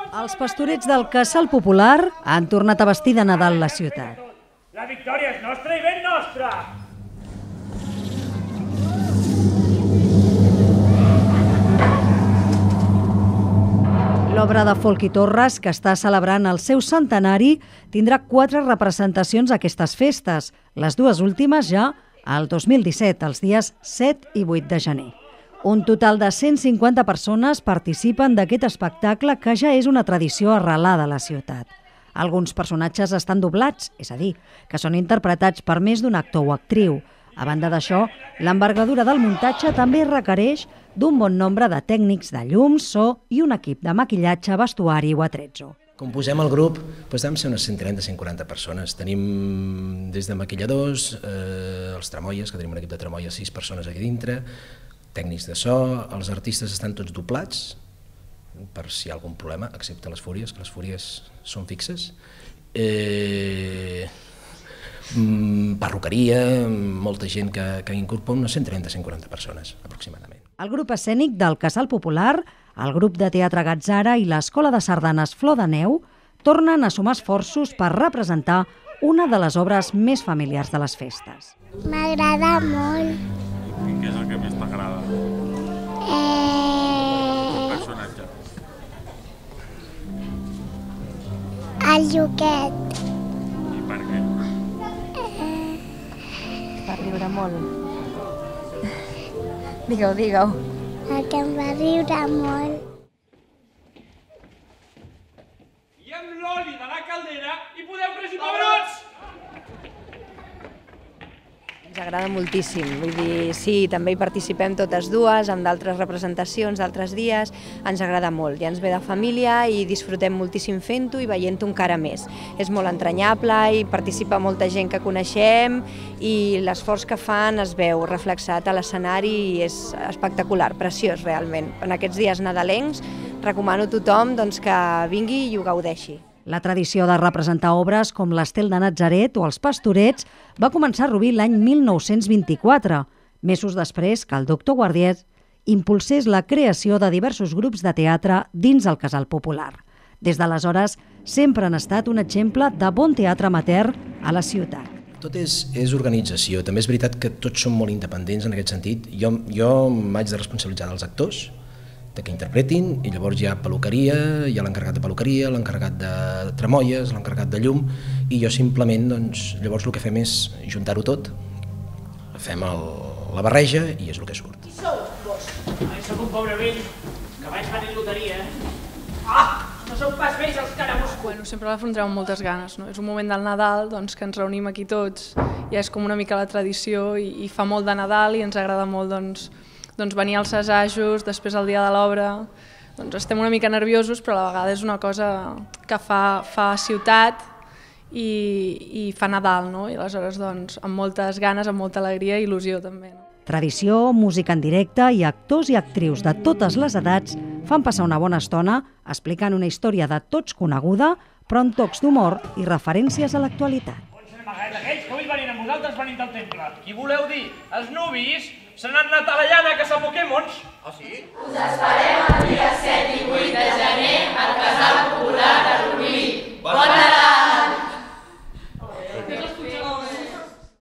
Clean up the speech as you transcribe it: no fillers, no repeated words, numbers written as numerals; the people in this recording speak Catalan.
Els pastorets del Casal Popular han tornat a vestir de Nadal la ciutat. La victòria és nostra i ben nostra! L'obra de Folch i Torres, que està celebrant el seu centenari, tindrà 4 representacions a aquestes festes, les dues últimes ja al 2017, els dies 7 i 8 de gener. Un total de 150 persones participen d'aquest espectacle que ja és una tradició arrelada a la ciutat. Alguns personatges estan doblats, és a dir, que són interpretats per més d'un actor o actriu. A banda d'això, l'envergadura del muntatge també requereix d'un bon nombre de tècnics de llum, so i un equip de maquillatge, vestuari o atrezzo. Com posem el grup, vam ser unes 130-140 persones. Tenim des de maquilladors, els tramoies, que tenim un equip de tramoies, 6 persones aquí dintre, tècnics de so, els artistes estan tots doblats, per si hi ha algun problema, excepte les fúries, que les fúries són fixes. Perruqueria, molta gent que incorpora unes 130-140 persones, aproximadament. El grup escènic del Casal Popular, el grup de teatre Gatzara i l'Escola de Sardanes Flor de Neu tornen a sumar esforços per representar una de les obres més familiars de les festes. M'agrada molt. I què és el que més t'agrada? El personatge. El Lluquet. I per què? Per riure molt. Digueu. Perquè em va riure molt. I amb l'oli de la caldera hi podeu fregir pebrots! Ens agrada moltíssim, vull dir, sí, també hi participem totes dues, amb d'altres representacions, d'altres dies, ens agrada molt, ja ens ve de família i disfrutem moltíssim fent-ho i veient-ho encara més. És molt entranyable, hi participa molta gent que coneixem i l'esforç que fan es veu reflexat a l'escenari i és espectacular, preciós realment. En aquests dies nadalencs recomano a tothom que vingui i ho gaudeixi. La tradició de representar obres com l'Estel de Natzaret o els Pastorets va començar a Rubí l'any 1924, mesos després que el doctor Guardiet impulsés la creació de diversos grups de teatre dins el Casal Popular. Des d'aleshores, sempre han estat un exemple de bon teatre amateur a la ciutat. Tot és organització. També és veritat que tots som molt independents en aquest sentit. Jo m'haig de responsabilitzar dels actors, que interpretin, i llavors hi ha peluqueria, hi ha l'encarregat de peluqueria, l'encarregat de tramoies, l'encarregat de llum, i jo simplement, llavors el que fem és juntar-ho tot, fem la barreja i és el que surt. Qui sou, vos? Soc un pobre vell que vaig venir loteria. No sou pas vells els carabús. Sempre l'afrontem amb moltes ganes, no? És un moment del Nadal que ens reunim aquí tots, ja és com una mica la tradició i fa molt de Nadal i ens agrada molt venir als assajos, després el dia de l'obra. Estem una mica nerviosos, però a la vegada és una cosa que fa ciutat i fa Nadal, no? I aleshores amb moltes ganes, amb molta alegria i il·lusió també. Tradició, música en directe i actors i actrius de totes les edats fan passar una bona estona explicant una història de tots coneguda, però amb tocs d'humor i referències a l'actualitat. On se n'amagaran aquells que avui venint amb vosaltres venint del temple? Qui voleu dir? Els nuvis? Se n'han anat a la llana a caçar Pokémons? Ah, sí? Us esperem el dia 7 i 8 de gener al Casal